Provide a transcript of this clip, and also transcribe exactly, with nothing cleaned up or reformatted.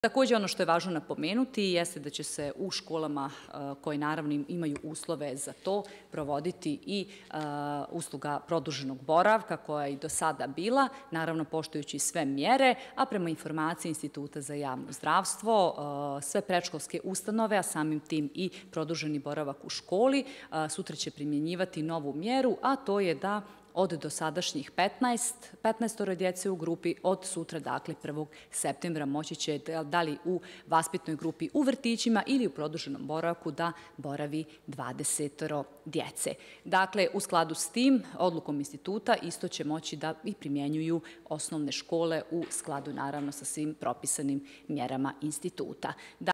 Također, ono što je važno napomenuti jeste da će se u školama koje naravno imaju uslove za to provoditi i usluga produženog boravka koja je i do sada bila, naravno poštujući sve mjere, a prema informaciji Instituta za javno zdravstvo, sve predškolske ustanove, a samim tim i produženi boravak u školi, sutra će primjenjivati novu mjeru, a to je da od dosadašnjih petnaest, petnaestoro djece u grupi, od sutra, dakle prvog septembra, moći će da li u vaspitnoj grupi u vrtićima ili u produženom boravku da boravi dvadesetoro djece. Dakle, u skladu s tim, odlukom instituta isto će moći da i primjenjuju osnovne škole u skladu naravno sa svim propisanim mjerama instituta.